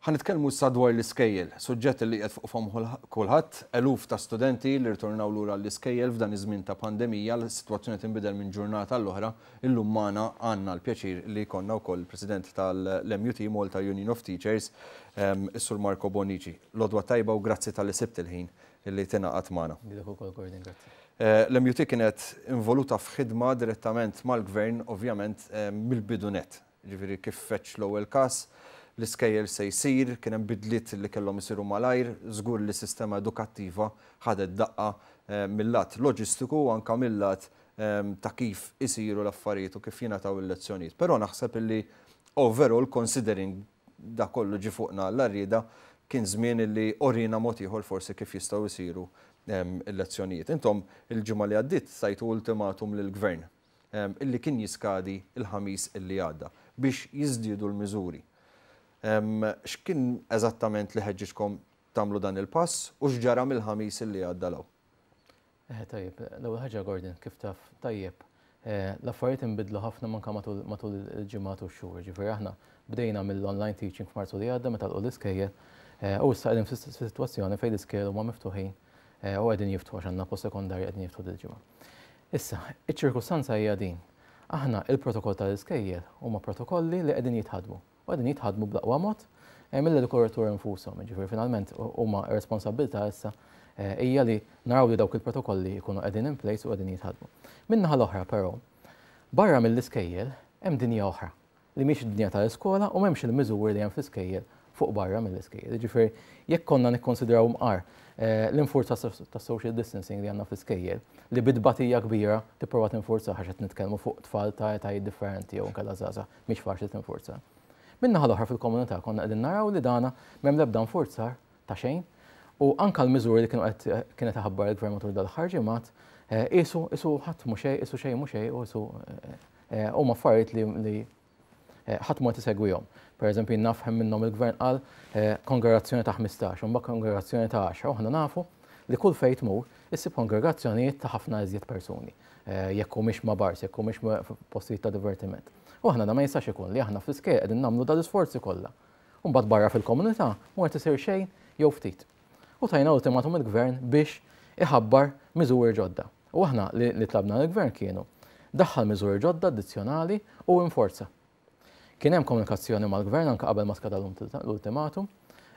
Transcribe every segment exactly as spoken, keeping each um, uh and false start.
Ħa nitkellmu issa dwar l-iskejjel, suġġett li qed fuq fomm kulħadd, eluf ta' studenti li rtornaw lura l-iskejjel f'dan iż-żmien ta' pandemija, l-sitwazzjoni tinbidel minn ġurnata l-oħra. Illum magħna għandna l-pjaċir li jkollna wkoll il-President tal-M U T, Malta Union of Teachers, is-Sur Marco Bonici. L-għodwa t-tajba u grazzi talli sibt il-ħin li tingħaqad magħna. Eh, L-M U T kienet involuta f'ħidma direttament mal-gvern, ovvjament, mill-bidu nett. Ġifieri kif feġġ l-ewwel każ, l-iskejjel se jsir, kien hemm bidliet li kellhom isiru malajr, żgur li sistema edukattiva ħadet daqqa eh, mill-lat loġistiku u anka mill-lat eh, ta' kif isiru l-affarijiet u kif jingħataw il-lezzjonijiet. Però naħseb illi overall, considering da kollu ġi fuqna l-arrida, kien żmien illi urina mod ieħor forsi kif jistgħu jsiru eh, il-lezzjonijiet. Intom il-ġimgħa li għaddiet tajtu ultimatum lill-gvern illi kien jiskadi il-Ħamis illi għadda biex jiżdiedu l-miżuri. X'kien eżattament li ħeġġiġkom tagħmlu dan il-pass u x'ġara mill-Ħamis illi għadda 'l hawn? Eh, tajjeb, l-ewwel ħaġa, Gordon, kif taf tajjeb, eh, l-affarijiet inbidlu ħafna manka matul il-ġimgħat u x-xhur. Ġifieri aħna bdejna mill-online teaching f'Marzu li għadda meta l-iskejjel eh, u issa qegħdin f'sitwazzjoni fejn l-iskejjel huma miftuħin u qegħdin jiftħu għax għandna post-sekondarji qegħdin jiftħu dil-ġimgħa. Issa, iċ-ċirkustanza hija din. Aħna il-protokoll tal-iskejjel huma protokolli li qegħdin jitħadmu u qegħdin jitħadmu bl-aqwa mod eh, mill-edukaturi infushom. Ġifieri finalment huma responsabbiltà issa eh, hija li naraw li dawk il-protokolli jkunu qegħdin in place u qegħdin jitħadmu. Min-naħa l-oħra però, barra mill-iskejjel hemm dinja oħra li mhix id-dinja tal-iskola u m'hemmx il-miżuri li hemm fl-iskejjel fuq barra mill-iskejjel. Ġifieri jekk konna nikkonsidraw mqar eh, l-infurza ta' social distancing li għandna fl-iskejjel, li bi tbatija kbira tipprova tinfurza għax qed nitkellmu fuq tfal ta' etajiet differenti jew nkella żgħażagħ, mhix faċli tinfurza. Min-naħa l-oħra fil-komunità konna qegħdin naraw li dana m'hemm l-ebda nfurzar ta' xejn u anka l-miżuri li kienu qed kienet iħabbar il-gvern matul dal-aħħar ġimgħat qisu qisu ħadd mhu xejn, qisu xejn mhu xejn u qisu huma affarijiet li li ħadd ma tisegwihom. Per eżempju, naf minnhom il-gvern qal kongregazzjoni ta' ħmistax, u mbagħad kongregazzjoni ta' għaxra, u aħna nafu li kull fejn tmur issib kongregazzjonijiet ta' ħafna iżjed persuni, jekk humiex ma' bars, jekk humiex postijiet ta' divertiment. U aħna da ma jistax ikun li aħna fl-iskejjel qegħdin nagħmlu dal-isforzi kollha. U mbagħad barra fil-komunità mhu qed isir xejn jew ftit. U tajna ultimatum il-gvern biex iħabbar miżuri ġodda. U aħna li tlabna l-gvern kienu daħħal miżuri ġodda addizzjonali u inforza. Kien hemm komunikazzjoni mal-gvern anke qabel ma skada l-ultimatum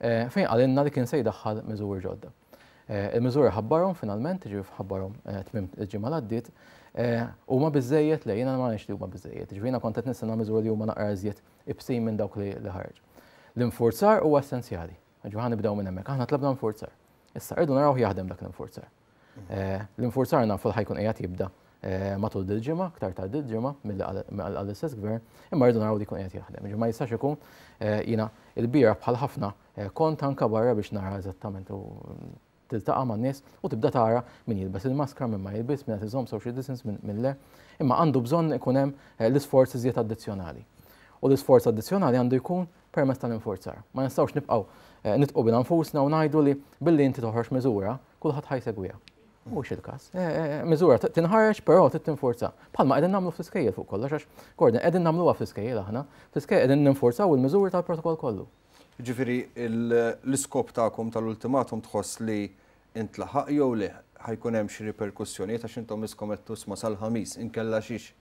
eh, fejn qalilna li kien se jdaħħal miżuri ġodda. Eh, il-miżuri ħabbarhom finalment, ġifieri ħabbarhom eh, tmiem il-ġimgħa li għaddiet, huma biżejjed le, jiena ma li huma biżejjed. Ġifieri jiena kont qed nistenna miżuri li huma naqra iżjed ibsin minn dawk li ħareġ. L-infurzar huwa essenzjali. Ġifieri ħa nibdew minn hemmhekk. Aħna tlabna nfurzar. Issa rridu naraw jaħdem dak l-infurzar. L-infurzar nafu li ħa jkun qiegħed jibda matul dil-ġimgħa, aktar tard dil-ġimgħa milli għall-istess gvern, imma rridu naraw li jkun qiegħed jaħdem. Ġifieri ma jistax ikun, jiena il-bieraħ bħal ħafna kont anka barra biex nara eżattament u tiltaqa' man-nies u tibda tara min jilbes il-maskra, min ma jilbes, min qed iżomm social distance, min le. Imma għandu bżonn ikun hemm l-isforz iżjed addizzjonali. U l-isforz addizzjonali għandu jkun permezz tal-infurzar. Ma nistgħux nibqgħu nidħqu bina nfusna u ngħidu li billi inti toħroġ miżura, kulħadd ħa jsegwiha. Mhux il-każ. Miżura tinħareġ, però trid tinforza. Bħalma qegħdin nagħmlu fl-iskejjel fuq kollox, għax, Gordon, qegħdin nagħmluha fl-iskejjel aħna. Fl-iskejjel qegħdin ninforzaw il-miżuri tal-protokoll kollu. Ġifieri l-iskop tagħkom tal-ultimatum tħoss li intlaħaq jew le, ħa jkun hemm xi riperkussjonijiet għax intom iskom qed tusma sal-Ħamis inkella xiex?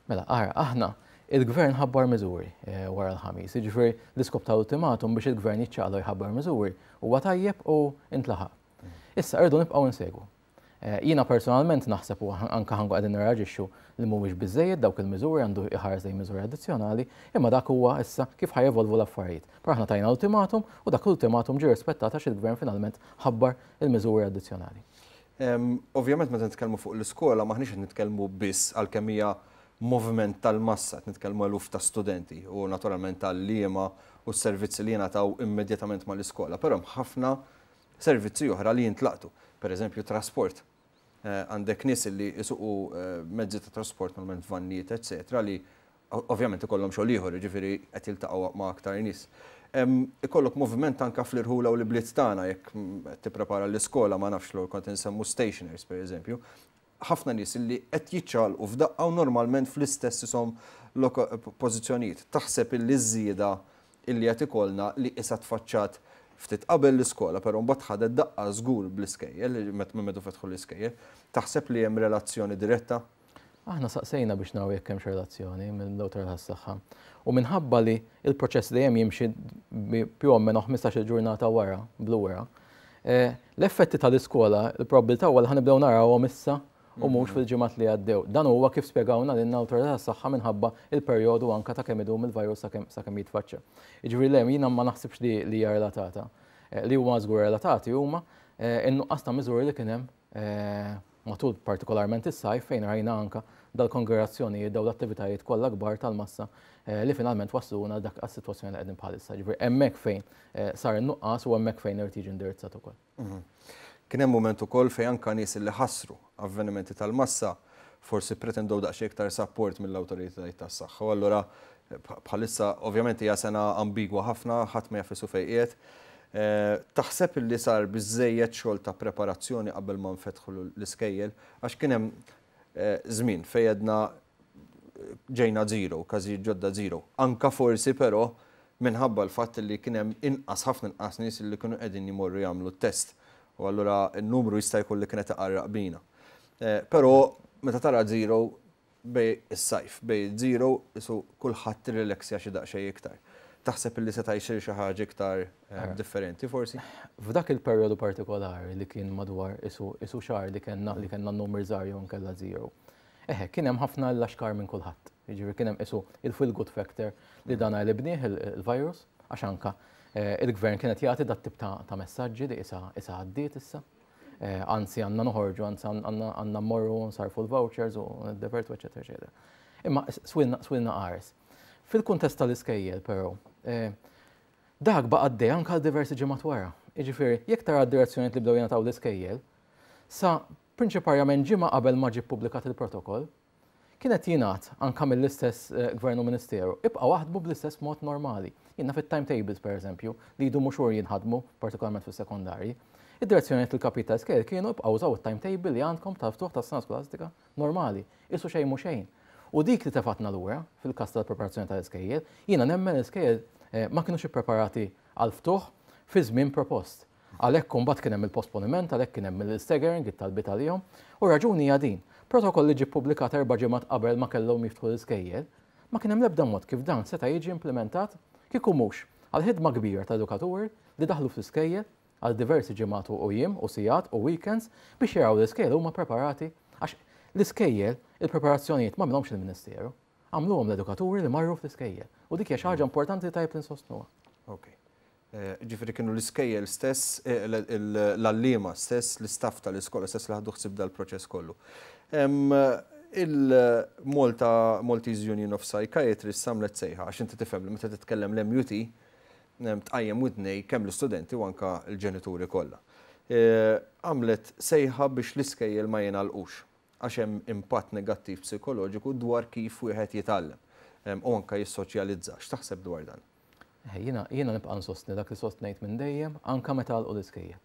Mela, ara, aħna il-gvern ħabbar miżuri eh, wara l-Ħamis. Jiġifieri l-iskop tal-ultimatum biex il-gvern jiċċaqlaq jħabbar miżuri huwa tajjeb u intlaħaq. Issa rridu nibqgħu insegwu. Eh, jiena personalment naħseb u anka ħa nkunu qegħdin nirreaġixxu li mhuwiex biżejjed dawk il-miżuri, għandu iħares lejn miżuri addizzjonali, imma dak huwa issa kif ħa jevolvu l-affarijiet. Però aħna tajna ultimatum u dak l-ultimatum ġie rispettat għax il-gvern finalment ħabbar il-miżuri addizzjonali. Ovvjament meta nitkellmu fuq l-iskola maħniex qed nitkellmu biss għal hija moviment tal-massa, qed nitkellmu eluf ta' studenti u naturalment tal-għalliema u s-servizzi li jingħataw immedjatament mal-iskola, però hemm ħafna servizzi oħra li jintlaqtu. Per eżempju, trasport. Eh, għandek nies li jisuqu eh, mezzi ta' trasport, normalment vannijiet, eccetera, li ovvjament ikollhom xogħol ieħor, jiġifieri qed jiltaqgħu ma' aktar nies. Ikollok moviment anka fl-irħula u l-bliet tagħna jekk tipprepara l-iskola, ma nafx l kont insemmu stationers, per eżempju. Ħafna nies li qed jiċċaqalqu f'daqqa u normalment fl-istess isom pożizzjonijiet. Taħseb illi żieda Illi qed ikollna li issa tfaċċat ftit qabel l-iskola, però mbagħad ħadet daqqa żgur bl-iskejjel, meta meta fetħu l-iskejjel. Taħseb li hemm relazzjoni diretta? Aħna saqsejna biex naraw jekk hemmx relazzjoni mill-awtorità tas-saħħa. U minħabba li il-proċess dejjem jimxi più o meno ħmistax-il ġurnata wara, blura, eh, l-effetti tal-iskola, il-probabilità huwa li ħa nibdew narawhom issa u mhux fil-ġimgħat li għaddew. Dan huwa kif spjegawna lil awtorità tas-saħħa minħabba il-perjodu anka ta' kemm idum il-virus sakemm jitfaċċa. Jiġifieri le, jiena ma naħsibx li li hija relatata. Eh, li huma żgur relatati huma eh, in-nuqqas ta' miżuri li kien hemm eh, matul partikolarment is-sajf, fejn rajna anka dal-kongregazzjonijiet, daw l-attivitajiet kollha kbar tal-massa li finalment wasluna dak għas-sitwazzjoni li qegħdin bħalissa. Ġifieri hemmhekk fejn sar in-nuqqas u hemmhekk fejn irid jiġi indirizzat ukoll. Mhm. Kien hemm mument ukoll fejn anka nies li ħassru avvenimenti tal-massa forsi pretendew daqsxejn iktar support mill-awtoritajiet tas-saħħa. U allura bħalissa ovvjament hija sena ambigwa ħafna, ħadd ma jaf fejn qiegħed. Eh, taħseb li sar biżejjed xogħol ta' preparazzjoni qabel ma nfetħu l-iskejjel, għax kien hemm eh, żmien fejn għedna ġejna zero, każijiet ġodda zero? Anka forsi però minħabba l-fatt li kien hemm inqas, ħafna inqas nies li kienu qegħdin jmorru jagħmlu t-test. U allura n-numru jista' jkun li kienet iqarraq bina. Eh, però meta tara zero bejn is-sajf, bejn zero isu kulħadd irrelaxja xi daqsxejn iktar. Taħseb li seta' jsir xi ħaġa iktar eh, differenti forsi? F'dak il-perjodu partikolari li kien madwar isu isu xahar li kellna li kellna n-numri żgħar jew nkella zero. Eħe, kien hemm ħafna l-laxkar minn kulħadd. Jiġifieri kien hemm isu il-feel good factor li dan għelibnieh il-virus, għax anka eh, il-gvern kienet jagħti dat tip ta' messaġġi li issa issa għaddiet issa. Eh, anzi għandna noħorġu, anzi għandna mmorru nsarfu l-vouchers u niddevertu, eċetera, eċetera. Imma swilna swilna qares. Fil-kuntest tal-iskejjel però, eh, dak baqa' għaddej anke għal diversi ġimgħat wara. Jiġifieri, jekk tara d-direzzjonijiet li bdew jingħataw l-iskejjel, sa prinċiparjament ġimgħa qabel ma ġie ppubblikat il-protokoll, kienet jingħad anka mill-istess eh, gvern u ministeru, ibqgħu aħdmu bl-istess mod normali. Jiena fit-timetables, per eżempju, li jdumu xhur jinħadmu, partikolarment fis-sekondarji. Id-direzzjonijiet il-kapita iskejjel kienu ibqgħu użaw it-timetable li għandkom tal-ftuħ tas-sena skolastika normali, isu xejn mhu xejn. U dik li tefatna lura fil-każ tal-preparazzjoni tal-iskejjel, jiena nemmen l-iskejjel eh, ma kienux ippreparati għal-ftuħ fi żmien propost. Għalhekk imbagħad kien hemm il-posponiment, għalhekk kien hemm il-staggering, it-talbiet għalihom, u raġuni hija din. Protokoll li ġie ppubblikat erba' ġimgħat qabel ma kellhom jiftħu l-iskejjel, ma kien hemm l-ebda mod kif dan seta' jiġi implementat kieku mhux għal ħidma kbira ta' edukaturi li daħlu fl-iskejjel għal diversi ġimgħat u jiem u sigħat u weekends biex jaraw l-iskejjel huma preparati, għax l-iskejjel il-preparazzjonijiet ma għamilhomx il-Ministeru. Għamluhom l-edukaturi li marru fl-iskejjel. U dik hija xi ħaġa importanti, tajjeb li nsostnuha. Ok. Eh, ġifieri kienu l-iskejjel stess, eh, l-għalliema stess, l-istaff tal-iskola stess li ħadu ħsieb dal-proċess kollu. Il-Malta Maltese Union of Psychiatrists għamlet sejħa, għax inti tifhem li meta titkellem l-M U T tqajjem widnej kemm l-istudenti u anka l-ġenituri kollha. Eh, għamlet sejħa biex l-iskejjel ma jingħalqux għax hemm impatt negattiv psikoloġiku dwar kif wieħed jitgħallem u anka jissoċjalizza. X'taħseb dwar dan? Jiena jiena nibqa' nsostni dak li sostnejt minn dejjem, anka meta għalqu l-iskejjel.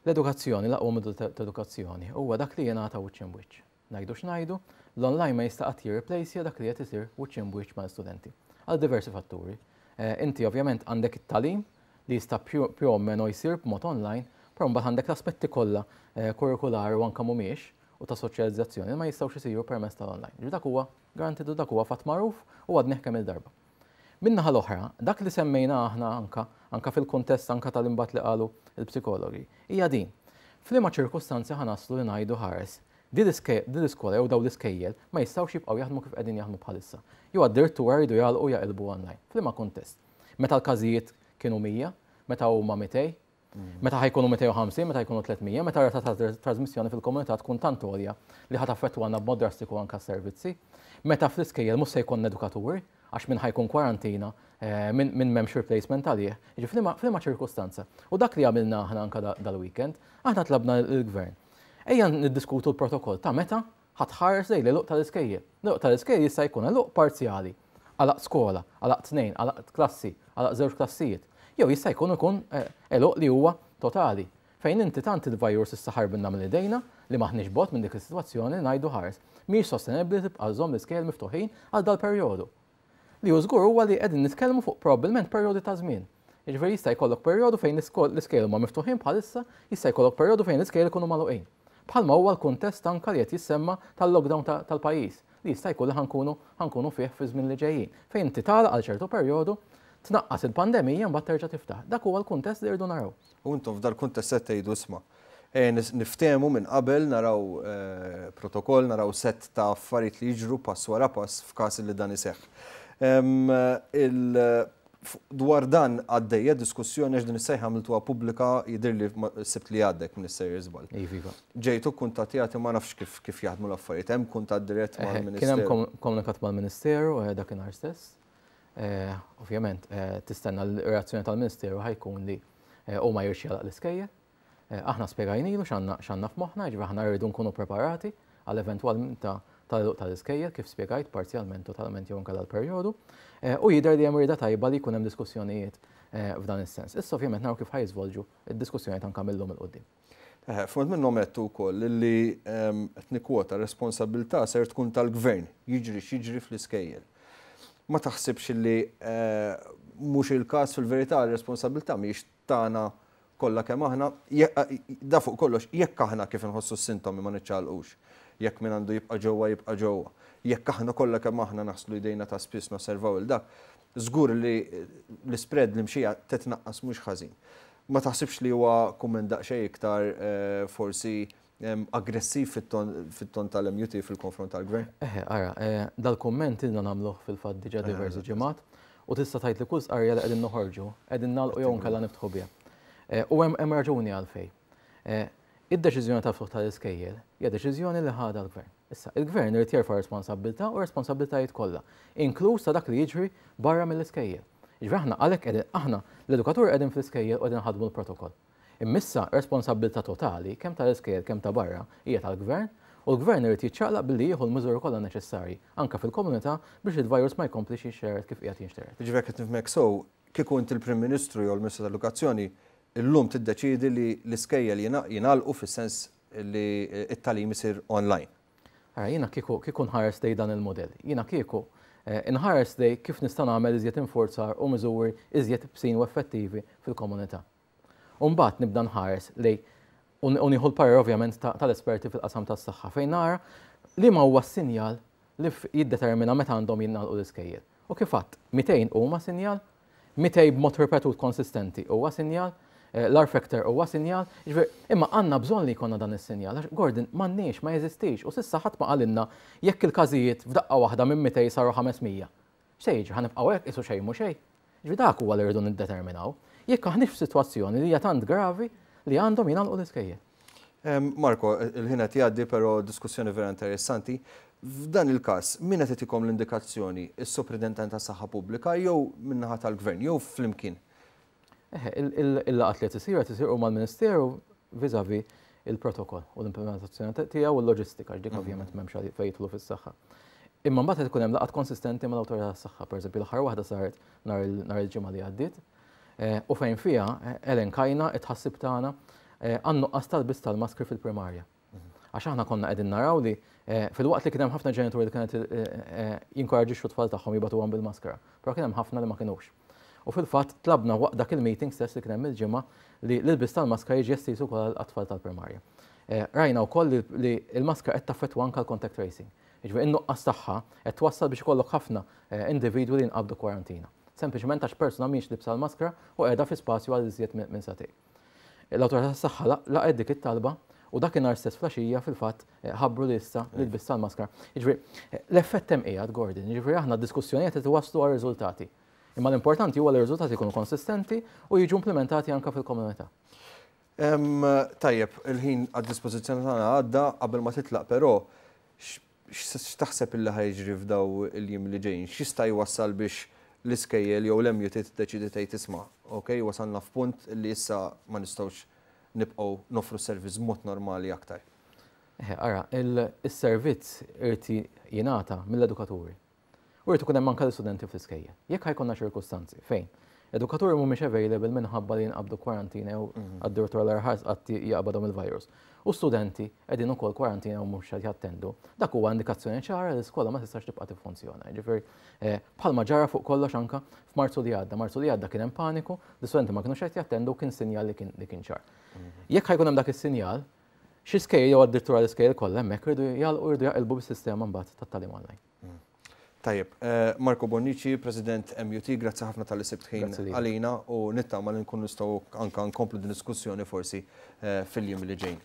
L-edukazzjoni, l-aqwa modu ta' edukazzjoni huwa dak li jingħata wiċċ imb wiċċ. Ngħidu x'ngħidu, l-online ma jista' qatt jirreplace dak li qed isir wiċċ imb wiċċ mal-studenti. Għal diversi fatturi. Eh, inti ovvjament għandek it-tagħlim li jista' più o meno jsir b'mod online, però mbagħad għandek l-aspetti kollha eh, kurrikulari u anke mhumiex u ta' soċjalizzazzjoni ma jistgħux isiru permezz tal-online. Ġi dak huwa garantitu, dak huwa fatt magħruf u għadnieh kemm il-darba. Min-naħa l-oħra, dak li semmejna aħna anka, anka fil-kuntest anka tal-imbat li qalu il-psikologi, hija din. F'liema ċirkustanzi ħa naslu li ngħidu ħares, din l-iskola jew daw l-iskejjel ma jistgħux jibqgħu jaħdmu kif qegħdin jaħdmu bħalissa? Jew addirittura jridu jagħlqu, jaqilbu online. F'liema kuntest? Meta l-każijiet kienu mija, meta huma mitejn, meta ħa jkunu mitejn u ħamsin, meta jkunu tliet mija, meta rata ta' trasmissjoni fil-komunità tkun tant għolja li ħa taffettwana b'mod drastiku anka servizzi, meta fl-iskejjel mhux se jkun edukaturi, għax minn ħa jkun kwarantina, eh, minn m'hemmx replacement għalih, ġi f'liema ċirkustanza? U dak li għamilna aħna anka dal-weekend, aħna tlabna l-gvern. Ejja niddiskutu l-protokoll ta' meta ħa tħares lejn l-għeluq tal-iskejjel. L-għeluq tal-iskejjel jista' jkun għeluq parzjali, għalaq skola, għalaq tnejn, għalaq klassi, għalaq żewġ klassijiet. Jew jista' jkun ikun eh, għeluq li huwa totali, fejn inti tant il-virus issa ħarbinna mill idejna li maħniex bogħod minn dik is-sitwazzjoni ngħidu ħares. Mhix sostenibbli tibqa' żomm l-iskejjel miftuħin għal dal-perjodu. Li hu żgur huwa li qegħdin nitkellmu fuq probabbilment perjodi ta' żmien. Jiġifieri jista' jkollok perjodu fejn l-iskejjel huma miftuħin bħalissa, jista' jkollok perjodu fejn l-iskejjel ikunu magħluqin. Bħalma huwa l-kuntest anka li qed jissemma tal-lockdown tal-pajjiż li jista' jkun li ħa nkunu ħa nkunu fih fi żmien li ġejjin. Fejn inti tagħlaq għal ċertu perjodu, tnaqqas il-pandemija, mbagħad terġa' tiftaħ. Dak huwa l-kuntest li rridu naraw. U intom f'dal kuntest qed tgħidu, isma', e, niftehmu minn qabel, naraw eh, protokoll, naraw set ta' affarijiet li jiġru pass wara pass f'każ li dan iseħħ. Dwar dan għaddejja diskussjoni għax din is-sejħa għamiltuha pubblika, jidhirli s-Sibt li għadda, minn sejjer żball. Iva. Ġejtu kuntattjati, ma nafx kif kif jaħdmu l-affarijiet, hemm kuntatt dirett mal-Ministeru? Kien hemm komunikat mal-Ministeru eh, dakinhar stess. Eh, ovvjament, eh, tistenna l-reazzjoni tal-Ministeru ħa jkun li huma jridx jagħlaq l-iskejjel. Aħna spjegajnilu x'għandna f'moħħna, jiġifieri aħna rridu nkunu preparati għal eventwalment tal-iskejjel, kif spjegajt, parzjalment, totalment jew inkella l-perjodu. Eh, u jidher li hemm rieda tajba li jkun hemm diskussjonijiet eh, f'dan is-sens. Issa ovvjament naraw kif ħa jiżvolġu id-diskussjonijiet anke mil-lum 'il quddiem. Eh, Fond minnhom għedtu wkoll li, qed nikkwota, responsabilità ser tkun tal-gvern, jiġri x'jiġri fl-iskejjel. Ma taħsibx li mhux il-każ fil-verità, r-responsabilità mhijiex tagħna kollha kemm aħna, da fuq kollox, jekk aħna kif inħossu s-sintomi ma niċċaqalqux, jekk min għandu jibqa' ġewwa jibqa' ġewwa, jekk aħna kollha kemm aħna naħslu jdejna ta' spiss, nosservaw il dak, żgur li l-spread li mxija titnaqqas mhux ħażin. Ma taħsibx li huwa kumment daqsxejn iktar eh, forsi aggressiv fit-ton tal-M U T fil-konfront tal-gvern? Eħe, ara, eh, dal-kumment ilna nagħmluh fil-fatt diġà diversi ġimgħat u tista' tgħid li kull stqarrija li qegħdin noħorġu qegħdin nagħlqu jew nkella niftħu biha. Eh, u hemm raġuni għalfejn. Id-deċiżjoni tal-ftuħ tal-iskejjel hija deċiżjoni li ħadha l-gvern. Issa, il-gvern irid jerfa' responsabbiltà u responsabbiltajiet kollha, inkluż ta' dak li jiġri barra mill-iskejjel. Jiġifieri aħna għalhekk qegħdin, aħna l-edukaturi qegħdin fl-iskejjel u qegħdin ħadmu l-protokoll. Imma issa responsabbiltà totali, kemm tal-iskejjel kemm ta' barra, hija tal-gvern u l-gvern irid jiċċaqlaq billi jieħu l-miżuri kollha neċessarji anke fil-komunità biex il-virus ma jkomplix jinxtered kif qiegħed jinxtered. Jiġifieri qed nifhmek sew, kieku inti l-Prim Ministru jew l-Ministru tal-Edukazzjoni, illum tiddeċidi li l-iskejjel jingħalqu fis-sens li it-tagħlim isir online? Ara, jiena kieku kieku nħares lejn dan il-modell. Jiena kieku eh, nħares lejn kif nista' nagħmel iżjed infurzar u miżuri iżjed iebsin u effettivi fil-komunità. U mbagħad nibda nħares lejn u nieħu l-parir ovvjament tal-esperti fil-qasam tas-saħħa fejn nara li ma huwa sinjal li jiddetermina meta għandhom jingħalqu l-iskejjel. U kif għedt, mitejn huma sinjal, mitejn b'mod ripetut konsistenti huwa sinjal, eh, l-R factor huwa sinjal, imma għandna bżonn li jkollna dan is-sinjal, għax, Gordon, m'għandniex, ma jeżistix, u s'issa ħadd ma qalilna jekk il-każijiet f'daqqa waħda minn mitejn saru ħames mija. X'se jiġri, ħa nibqgħu hekk qisu xejn mhu xejn? Ġifieri dak huwa li rridu niddeterminaw. Jekk aħniex f'sitwazzjoni li hija tant gravi li għandhom jingħalqu l-iskejjel. Marko, il-ħin qed jgħaddi, però diskussjoni vera interessanti. F'dan il-każ, min qed itikom l-indikazzjoni, is-Soprintendent ta' Saħħa Pubblika jew min-naħa tal-Gvern jew flimkien? Eħe, il-laqgħat li qed isir qed isir mal-Ministeru vis-a-vis il-protokoll u l-implementazzjoni tiegħu u l-loġistika, dik mhm. ovvjament m'hemmx fejn jidħlu fis-saħħa. Imma mbagħad qed ikun hemm laqgħat konsistenti mal-awtorità tas-saħħa, pereżempju l-aħħar waħda saret nhar il-Ġimgħa li għaddiet, eh, u fejn fiha eh, elenkajna it-tħassib tagħna eh, għan-nuqqas tal-ilbies tal-maskri fil-primarja. Għax aħna konna qegħdin naraw li filwaqt li kien hemm ħafna ġenituri li kienet jinkoraġixxu tfal tagħhom jibagħtuhom bil-maskra, però kien hemm ħafna li ma kinux. U fil-fatt tlabna waqt dak il-meeting stess li kien hemm il-Ġimgħa li l-ilbies tal-maskra jiġi estiż ukoll għat-tfal tal-primarja. Rajna wkoll li l-maskra qed taffettwa anke l-contact tracing. Jiġifieri in-nuqqas tagħha qed twassal biex ikollok ħafna individwi li nqabdu kwarantina. Sempliċement għax persuna mhix libsa l-maskra u qiegħda fi spazju għal iżjed minn sagħtejn. L-awtorità tas-saħħa laqgħet dik it-talba u dakinhar stess filgħaxija fil-fatt ħabbru li issa li ilbies tal-maskra. Jiġifieri l-effett hemm qiegħed, Gordon, jiġifieri aħna d-diskussjonijiet qed iwasslu għal riżultati. Imma l-importanti huwa li r-riżultati jkunu konsistenti u jiġu implementati anke fil-komunità. Tajjeb, il-ħin għad-dispożizzjoni tagħna għadda. Qabel ma titlaq però, x'taħseb illi ħa jiġri f'daw il-jiem li ġejjin? X'jista' jwassal biex l-iskejjel jew l-M U T tiddeċidi tgħid, isma', ok, wasalna f'punt li issa ma nistgħux nibqgħu nofru servizz mod normali aktar? Ara, il-servizz irid jingħata mill-edukaturi. U jrid ikun hemm anke l-istudenti fl-iskejjel. Jekk ħa jkollna ċirkustanzi fejn Edukaturi mhumiex available minħabba li jinqabdu kwarantina jew mhm. għad-direttur l-arħas qatt jaqbadhom il-virus. U studenti qegħdin ukoll kwarantina u mhux qed jattendu. Dak huwa indikazzjoni ċara li l-iskola ma tistax tibqa' tiffunzjona. Ġifieri eh, bħalma ġara fuq kollox anka f'Marzu li għadda. Marzu li għadda kien hemm paniku, l-istudenti ma kinux qed jattendu, kien sinjal li kien li kien ċar. Mhm. Jekk ħa jkun hemm dak is-sinjal, xi skejjel jew addirittura l-iskejjel kollha hemmhekk rridu jagħlqu, rridu jaqilbu bis-sistema mbagħad tat-tagħlim online. Mhm. Tajjeb, eh, Marco Bonnici, President M U T, grazzi ħafna talli sibt ħin għalina u nittama li nkun nistgħu anka nkomplu din diskussjoni forsi eh, fil-jiem li ġejn.